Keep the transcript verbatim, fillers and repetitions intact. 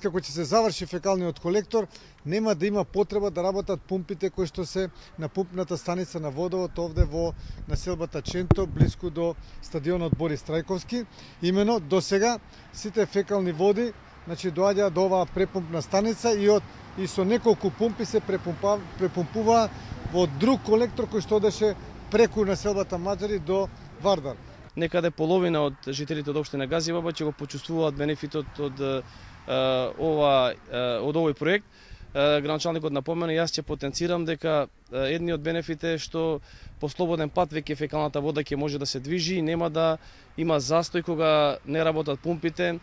како ќе се заврши фекалниот колектор, нема да има потреба да работат пумпите кои што се на пумпната станица на водовод овде во населбата Ченто, блиску до стадионот Борис Трајковски. Имено до сега сите фекални води, значи доаѓаат до оваа препумпна станица и од и со неколку пумпи се препумпува, препумпува во друг колектор кој што одеше преку населбата Маџари до Вардар. Некаде половина од жителите од општина Газиваба ќе го почувствуваат бенефитот од ова од овој проект. Градоначалникот напомена, јас ќе потенцирам дека едниот бенефит е што по слободен пат веќе фекалната вода ќе може да се движи и нема да има застој кога не работат пумпите.